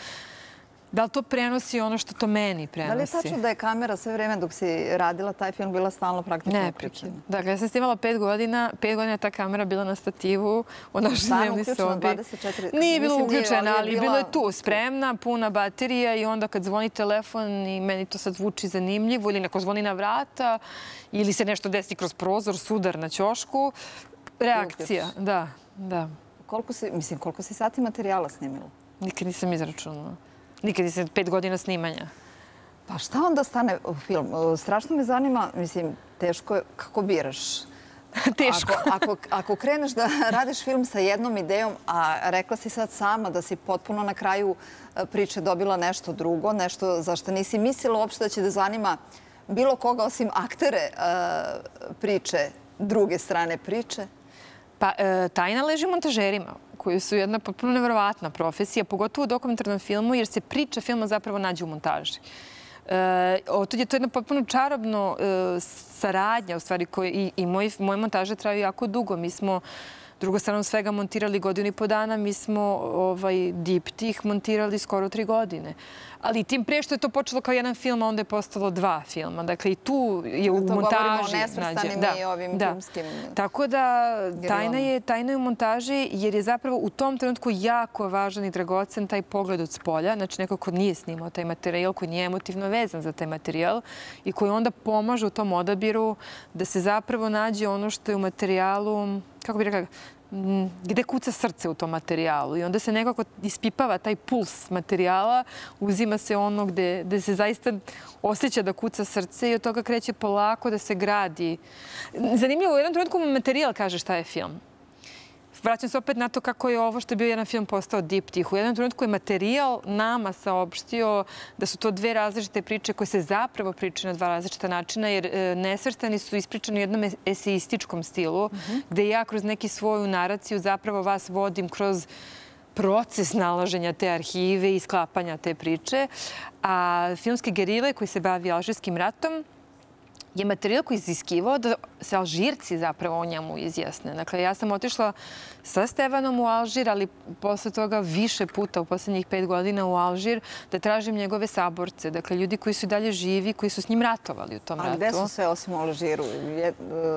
Da li to prenosi ono što to meni prenosi? Da li je tačno da je kamera sve vreme dok si radila taj film bila stalno praktično uključena? Dakle, ja sam snimala pet godina, pet godina ta kamera bila na stativu u našoj Stvarno dnevnoj uključena sobi. dvadeset četiri Nije bila Mislim, nije, uključena, ali je ali bila- bila je tu, spremna, puna baterija i onda kad zvoni telefon i meni to sad zvuči zanimljivo ili neko zvoni na vrata ili se nešto desi kroz prozor, sudar na ćošku, reakcija. Da, da. Koliko si, mislim, koliko si sati materijala snimila? Nikad nisam izračunala. Nikad nisam pet godina snimanja. Pa šta onda stane u film? Strašno me zanima, mislim, teško je, kako biraš? Teško. Ako, ako, ako kreneš da radiš film sa jednom idejom, a rekla si sad sama da si potpuno na kraju priče dobila nešto drugo, nešto za što nisi mislila uopšte da će da zanima bilo koga osim aktere priče, druge strane priče. Pa, e, tajna leži u montažerima, koji su jedna potpuno nevjerovatna profesija, pogotovo u dokumentarnom filmu, jer se priča filma zapravo nađe u montaži. E, otud je to jedna potpuno čarobno e, saradnja, u stvari, koje, i, i moje, moje montaže traju jako dugo. Mi smo drugo stranom svega montirali godinu i po dana, mi smo ovaj, diptih montirali skoro tri godine. Ali tim prije što je to počelo kao jedan film, a onda je postalo dva filma. Dakle, i tu je u to montaži. govorimo o nesvrstanim da, i ovim da. filmskim. Tako da tajna je, tajna je u montaži, jer je zapravo u tom trenutku jako važan i dragocen taj pogled od spolja. Znači, neko ko nije snimao taj materijal, koji nije emotivno vezan za taj materijal i koji onda pomaže u tom odabiru da se zapravo nađe ono što je u materijalu, kako bih rekla, gde kuca srce u tom materijalu i onda se nekako ispipava taj puls materijala, uzima se ono gde, gde se zaista osjeća da kuca srce i od toga kreće polako da se gradi. Zanimljivo, u jednom trenutku materijal kaže šta je film. Vraćam se opet na to kako je ovo što je bio jedan film postao diptih. U jednom trenutku je materijal nama saopštio da su to dve različite priče koje se zapravo pričaju na dva različita načina, jer Nesvrstani su ispričani u jednom eseističkom stilu, gde ja kroz neki svoju naraciju zapravo vas vodim kroz proces nalaženja te arhive i sklapanja te priče. A filmske gerile koji se bavi Alžirskim ratom je materijal koji iziskivao da se Alžirci zapravo o njemu izjasne. Dakle, ja sam otišla sa Stevanom u Alžir, ali posle toga više puta u poslednjih pet godina u Alžir da tražim njegove saborce. Dakle, ljudi koji su dalje živi, koji su s njim ratovali u tom ratu. A gde su sve osim u Alžiru?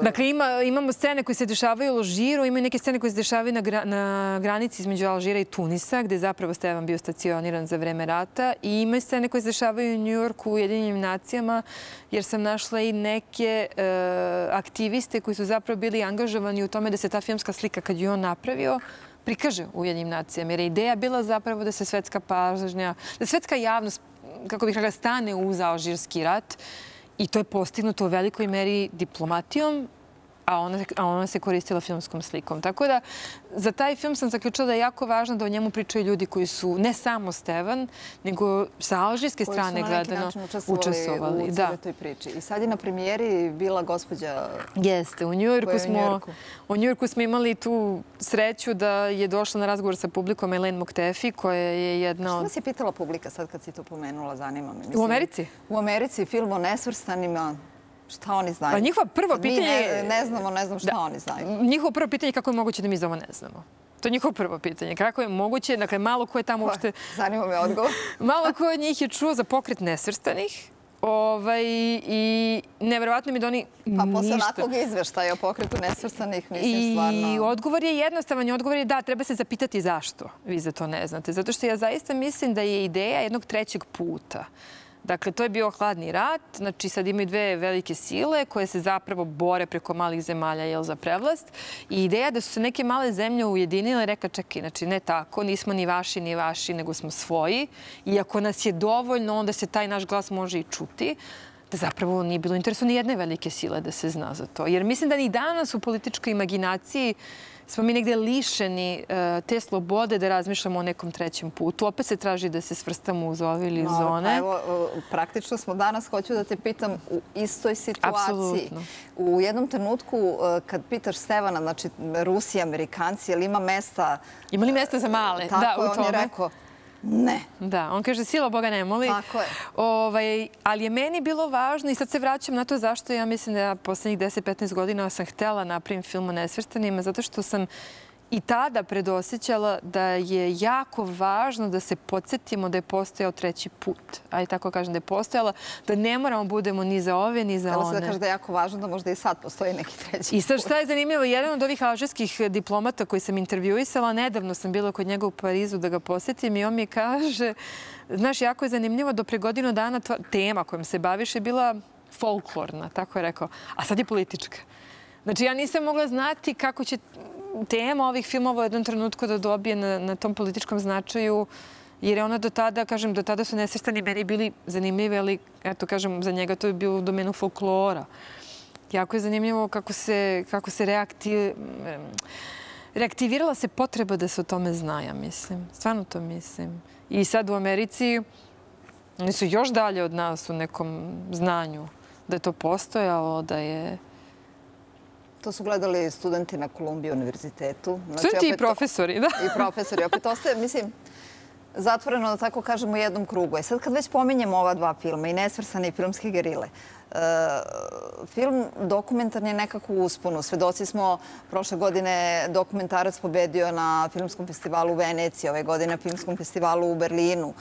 Dakle, ima, imamo scene koje se dešavaju u Alžiru, ima neke scene koje se dešavaju na, gra, na granici između Alžira i Tunisa, gde je zapravo Stevan bio stacioniran za vreme rata. I ima scene koje se dešavaju u Njujorku, u Ujedinjenim nacijama, jer sam našla i neke e, aktiviste koji su zapravo bili angažovani u tome da se ta filmska slika, kad ju on napravio, prikaže u Ujedinjenim nacijama. Jer je ideja bila zapravo da se svetska pažnja, da svetska javnost, kako bih rekla, stane uz Alžirski rat. I to je postignuto u velikoj meri diplomatijom, a ona, a ona se koristila filmskom slikom. Tako da, za taj film sam zaključila da je jako važno da o njemu pričaju ljudi koji su ne samo Stevan, nego sa alžirske strane gledano učestvovali u cijeloj toj priči. I sad je na premijeri bila gospođa... Jeste, u Njujorku smo, u Njujorku smo imali tu sreću da je došla na razgovor sa publikom Elaine Moktefi, koja je jedna od... Što vas je pitala publika sad kad si to pomenula, zanima me? Mislim, u Americi? U Americi, film o nesvrstanima. Šta oni znaju? Pa njihovo prvo pitanje... Mi ne, ne znamo, ne znam šta da, oni znaju. Njihovo prvo pitanje je kako je moguće da mi za ovo ne znamo. To je njihovo prvo pitanje. Kako je moguće, dakle, malo ko je tamo uopšte... Zanima me odgovor. Malo ko od njih je čuo za pokret nesvrstanih. Ovaj, I neverovatno mi da oni ništa... Pa posle ništa... onakvog izveštaja o pokretu nesvrstanih, mislim, stvarno... I odgovor je jednostavan. Odgovor je da, treba se zapitati zašto vi za to ne znate. Zato što ja zaista mislim da je ideja jednog trećeg puta. Dakle, to je bio hladni rat. Znači, sad imaju dve velike sile koje se zapravo bore preko malih zemalja jel, za prevlast. I ideja da su se neke male zemlje ujedinile i reka, čekaj, znači ne tako, nismo ni vaši ni vaši, nego smo svoji. I ako nas je dovoljno, onda se taj naš glas može i čuti. Da zapravo nije bilo interesu ni jedne velike sile da se zna za to. Jer mislim da ni danas u političkoj imaginaciji smo mi negde lišeni te slobode da razmišljamo o nekom trećem putu. Opet se traži da se svrstamo uz ove ili uz one. Pa evo, praktično smo danas, hoću da te pitam, u istoj situaciji. Apsolutno. U jednom trenutku, kad pitaš Stevana, znači Rusi, Amerikanci, je li ima mesta... Ima li mesta za male? Tako da, je, on je rekao, ne. Da, on kaže sila Boga ne moli. Tako je. Ovaj, ali je meni bilo važno i sad se vraćam na to zašto ja mislim da ja poslednjih deset do petnaest godina sam htela napravim film o nesvrstanima, zato što sam i tada predosjećala da je jako važno da se podsjetimo da je postojao treći put. Ajde tako kažem da je postojala, da ne moramo budemo ni za ove, ni za one. Htjela se da kaže da je jako važno da možda i sad postoji neki treći put. I sad šta je zanimljivo, jedan od ovih alžirskih diplomata koji sam intervjuisala, nedavno sam bila kod njega u Parizu da ga posjetim i on mi kaže, znaš, jako je zanimljivo, do pre godinu dana tema kojom se baviš je bila folklorna, tako je rekao, a sad je politička. Znači, ja nisam mogla znati kako će tema ovih filmova u jednom trenutku da dobije na, na tom političkom značaju, jer je ona do tada, kažem, do tada su nesvrstani meni bili zanimljivi, ali, eto, kažem, za njega to je bilo u domenu folklora. Jako je zanimljivo kako se, kako se reaktiv... reaktivirala se potreba da se o tome zna, ja mislim. Stvarno to mislim. I sad u Americi oni su još dalje od nas u nekom znanju da je to postojalo, da je... To su gledali studenti na Columbia univerzitetu. Studenti i profesori, da. I profesori. Opet ostaje, mislim, zatvoreno, da tako kažemo, u jednom krugu. E sad kad već pominjemo ova dva filma, i Nesvrstane i Filmske gerile, Film dokumentarni je nekako u usponu. Svedoci smo, prošle godine dokumentarac pobedio na Filmskom festivalu u Veneciji, ove godine na Filmskom festivalu u Berlinu.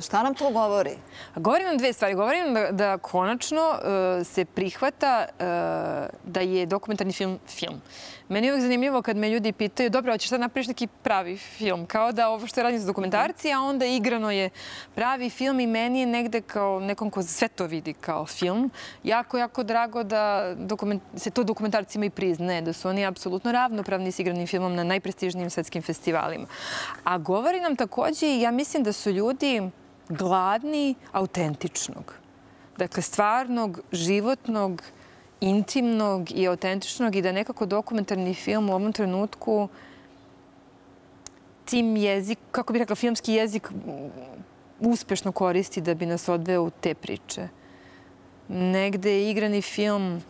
Šta nam to govori? Govori nam dve stvari. Govori nam da, da konačno uh, se prihvata uh, da je dokumentarni film film. Meni je uvijek zanimljivo kad me ljudi pitaju dobro, hoćeš sad napraviš neki pravi film, kao da ovo što je radim za dokumentarci, a onda igrano je pravi film i meni je negde kao nekom ko sve to vidi kao film. Jako, jako drago da dokument, se to dokumentarcima i priznaje, da su oni apsolutno ravnopravni s igranim filmom na najprestižnijim svetskim festivalima. A govori nam takođe, ja mislim da su ljudi gladni autentičnog. Dakle, stvarnog, životnog, intimnog i autentičnog i da nekako dokumentarni film u ovom trenutku tim jezik, kako bih rekla, filmski jezik uspešno koristi da bi nas odveo u te priče. Negde igrani film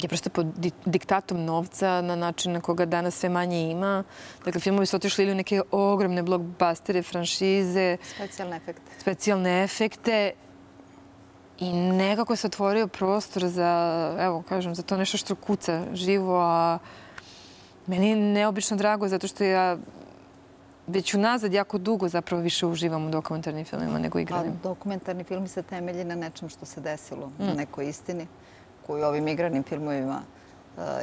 je prosto pod diktatom novca na način na koga danas sve manje ima. Dakle, filmovi su otišli ili u neke ogromne blockbustere, franšize. Specijalne efekte. Specijalne efekte. I nekako se otvorio prostor za, evo, kažem, za to nešto što kuca živo, a meni je neobično drago zato što ja već unazad jako dugo zapravo više uživam u dokumentarnim filmima nego igranim. A dokumentarni film se temelji na nečem što se desilo, na nekoj istini koju ovim igranim filmovima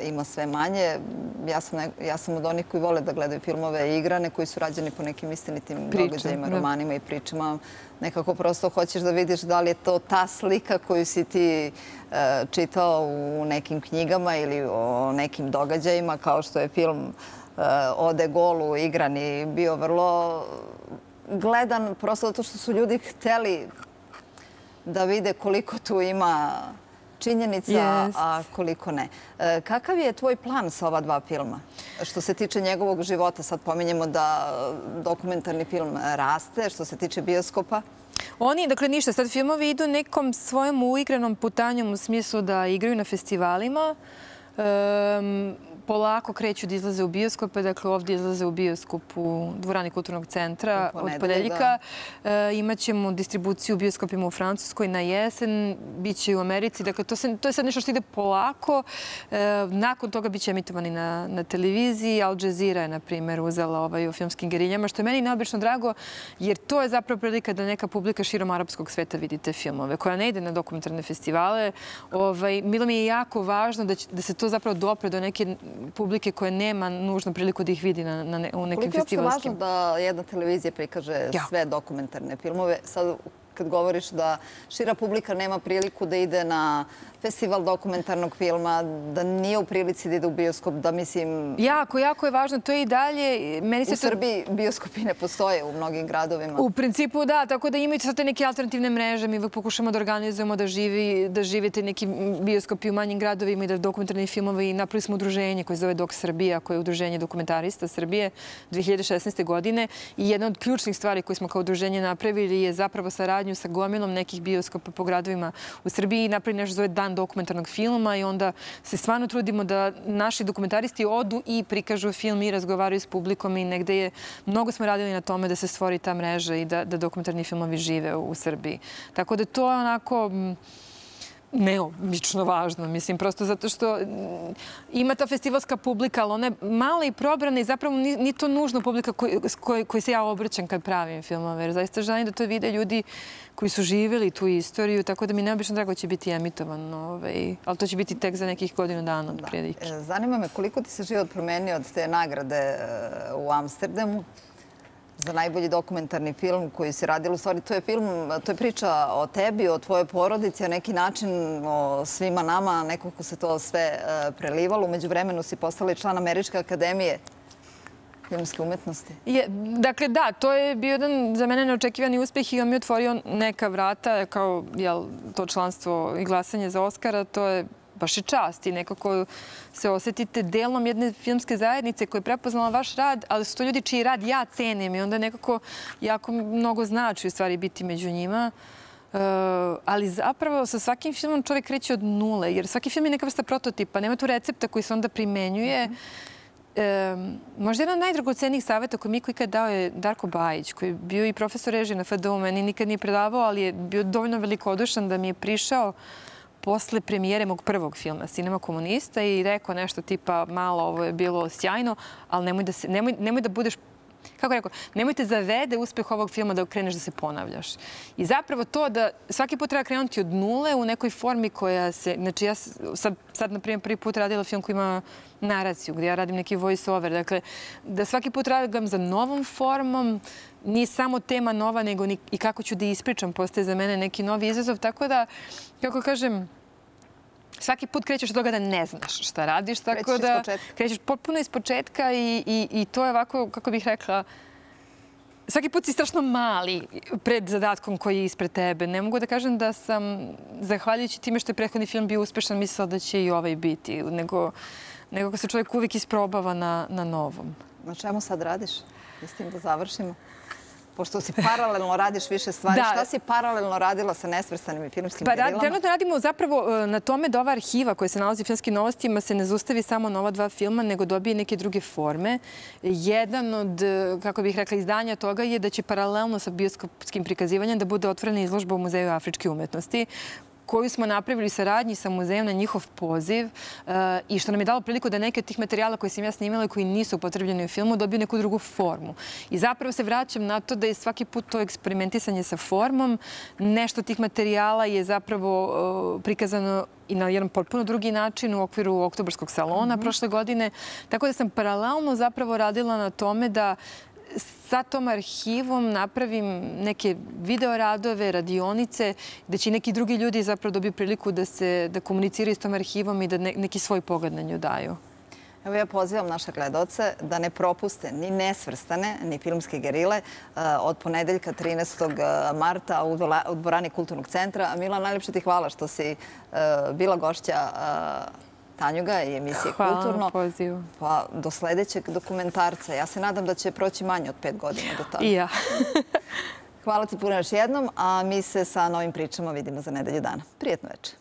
ima sve manje. Ja sam, ne, ja sam od onih koji vole da gledaju filmove igrane, koji su rađeni po nekim istinitim događajima, romanima i pričama. Nekako prosto hoćeš da vidiš da li je to ta slika koju si ti uh, čitao u nekim knjigama ili o nekim događajima, kao što je film uh, o De Gauleu igrani bio vrlo gledan, prosto zato što su ljudi hteli da vide koliko tu ima činjenica, yes. a koliko ne. E, kakav je tvoj plan sa ova dva filma? Što se tiče njegovog života, sad pominjemo da dokumentarni film raste, što se tiče bioskopa. Oni, dakle, ništa. Sad filmovi idu nekom svojom uigranom putanjom u smislu da igraju na festivalima. Um, polako kreću da izlaze u bioskope. Dakle, ovdje izlaze u bioskop u dvorani Kulturnog centra od ponedeljka. E, imaćemo distribuciju u bioskopima u Francuskoj na jesen. Biće i u Americi. Dakle, to, se, to je sad nešto što ide polako. E, nakon toga biće emitovani na, na televiziji. Al Jazeera je, na primjer, uzela ovaj, o filmskim geriljama, što je meni neobično drago, jer to je zapravo prilika da neka publika širom arapskog sveta vidi te filmove, koja ne ide na dokumentarne festivale. Ovaj, bilo mi je jako važno da, će, da se to zapravo dopre do neke publike koja nema nužnu priliku da ih vidi na, na ne, u nekim festivalskim. Koliko je uopšte važno da jedna televizija prikaže ja. sve dokumentarne filmove? Sad, kad govoriš da šira publika nema priliku da ide na festival dokumentarnog filma, da nije u prilici da ide u bioskop, da mislim... Jako, jako je važno. To je i dalje... Meni se u Srbiji to... bioskopi ne postoje u mnogim gradovima. U principu da, tako da imaju sad te neke alternativne mreže. Mi pokušamo da organizujemo da, živi, da živite neki bioskopi u manjim gradovima i da dokumentarni filmovi. Napravili smo udruženje koje zove Dok Srbija, koje je udruženje dokumentarista Srbije dve hiljade šesnaeste. godine. I jedna od ključnih stvari koje smo kao udruženje napravili je zapravo saradnju sa gomilom nekih bioskopa po gradovima u Srbiji. Napravili nešto zove Dan dokumentarnog filma i onda se stvarno trudimo da naši dokumentaristi odu i prikažu film i razgovaraju s publikom i negde je, mnogo smo radili na tome da se stvori ta mreža i da, da dokumentarni filmovi žive u, u Srbiji. Tako da to je onako neobično važno, mislim, prosto zato što ima ta festivalska publika, ali ona je mala i probrana i zapravo nije to nužno publika koji, koji, koji se ja obraćam kad pravim filmove, jer zaista želim da to vide ljudi koji su živjeli tu istoriju, tako da mi neobično drago će biti emitovan, ovaj, ali to će biti tek za nekih godinu dana od prilike. Zanima me koliko ti se život promenio od te nagrade u Amsterdamu za najbolji dokumentarni film koji si radila. U stvari, to je film, to je priča o tebi, o tvojoj porodici, a neki način o svima nama, nekako se to sve prelivalo. Umeđu vremenu si postala i član Američke akademije filmske umetnosti. Je, dakle, da, to je bio jedan za mene neočekivani uspeh i on mi otvorio neka vrata, kao jel, to članstvo i glasanje za Oskara, to je baš i čast i nekako se osjetite delom jedne filmske zajednice koja je prepoznala vaš rad, ali su to ljudi čiji rad ja cenim i onda nekako jako mnogo znači u stvari biti među njima. Uh, ali zapravo sa svakim filmom čovjek kreće od nule, jer svaki film je neka vrsta prototipa, nema tu recepta koji se onda primenjuje. Um, možda jedan od najdragocenijih savjeta koji mi ikad dao je Darko Bajić, koji je bio i profesor režije na F D U, meni nikad nije predavao, ali je bio dovoljno velikodušan da mi je prišao posle premijere mog prvog filma Cinema komunista i rekao nešto tipa malo ovo je bilo sjajno, ali nemoj da, se, nemoj, nemoj da budeš kako rekao, nemojte zavede uspeh ovog filma da kreneš da se ponavljaš. I zapravo to da svaki put treba krenuti od nule u nekoj formi koja se... Znači ja sad, sad na primjer, prvi put radila film koji ima naraciju, gdje ja radim neki voice over. Dakle, da svaki put radim za novom formom, nije samo tema nova, nego i kako ću da ispričam, postaje za mene neki novi izazov. Tako da, kako kažem, svaki put krećeš od toga da ne znaš šta radiš. Tako da krećeš potpuno iz početka i, i, i to je ovako, kako bih rekla, svaki put si strašno mali pred zadatkom koji je ispred tebe. Ne mogu da kažem da sam, zahvaljujući time što je prethodni film bio uspešan, mislila da će i ovaj biti, nego, nego se čovjek uvijek isprobava na, na novom. Na čemu sad radiš? Mislim da završimo. Pošto si paralelno radiš više stvari, da. Šta si paralelno radila sa nesvrstanim i filmskim pa, gerilama? Trenutno radimo zapravo na tome da ova arhiva koja se nalazi u Filmskim novostima se ne zaustavi samo na ova dva filma, nego dobije neke druge forme. Jedan od, kako bih rekla, izdanja toga je da će paralelno sa bioskopskim prikazivanjem da bude otvorena izložba u Muzeju afričke umetnosti, koju smo napravili saradnji sa muzejem na njihov poziv i što nam je dalo priliku da neke od tih materijala koje sam ja snimala i koji nisu upotrebljeni u filmu dobiju neku drugu formu. I zapravo se vraćam na to da je svaki put to eksperimentisanje sa formom. Nešto tih materijala je zapravo prikazano i na jedan potpuno drugi način u okviru Oktobarskog salona prošle godine. Tako da sam paralelno zapravo radila na tome da sa tom arhivom napravim neke videoradove, radionice, gde će neki drugi ljudi zapravo dobiju priliku da se da komuniciraju s tom arhivom i da ne, neki svoj pogled na nju daju. Evo ja pozivam naše gledaoce da ne propuste ni nesvrstane, ni filmske gerile od ponedeljka trinaestog marta u dvorani Kulturnog centra. Mila, najljepše ti hvala što si bila gošća Tanjuga i emisije Kulturno. Hvala na pozivu. Pa do sljedećeg dokumentarca. Ja se nadam da će proći manje od pet godina do toga. I ja. Hvala ti puno još jednom, a mi se sa novim pričama vidimo za nedelju dana. Prijetno večer.